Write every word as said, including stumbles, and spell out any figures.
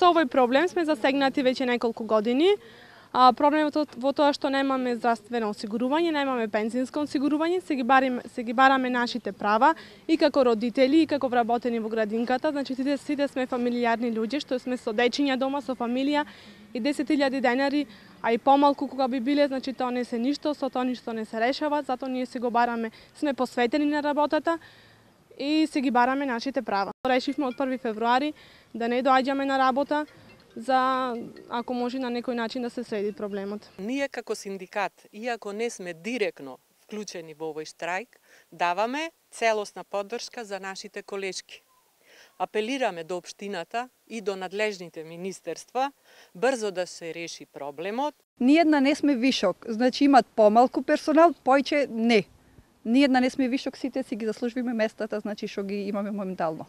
Со овој проблем сме засегнати веќе неколку години. А, проблемот во тоа што немаме здравствено осигурување, немаме пензионско осигурување, се ги, барим, се ги бараме нашите права и како родители, и како вработени во градинката. Значи, сите, сите сме фамилијарни луѓе, што сме со дечиња дома, со фамилија, и десет илјади денари, а и помалку кога би биле, значи тоа не се ништо, со тоа ништо не се решава, затоа ние се го бараме, сме посветени на работата и се ги бараме нашите права. Решивме од први февруари да не доаѓаме на работа, за ако може на некој начин да се среди проблемот. Ние како синдикат, иако не сме директно вклучени во овој штрајк, даваме целосна поддршка за нашите колешки. Апелираме до општината и до надлежните министерства брзо да се реши проблемот. Ниедна не сме вишок, значи имат помалку персонал, појче не. Ниедна не сме вишок, сите си ги заслужуваме местата, значи што ги имаме моментално.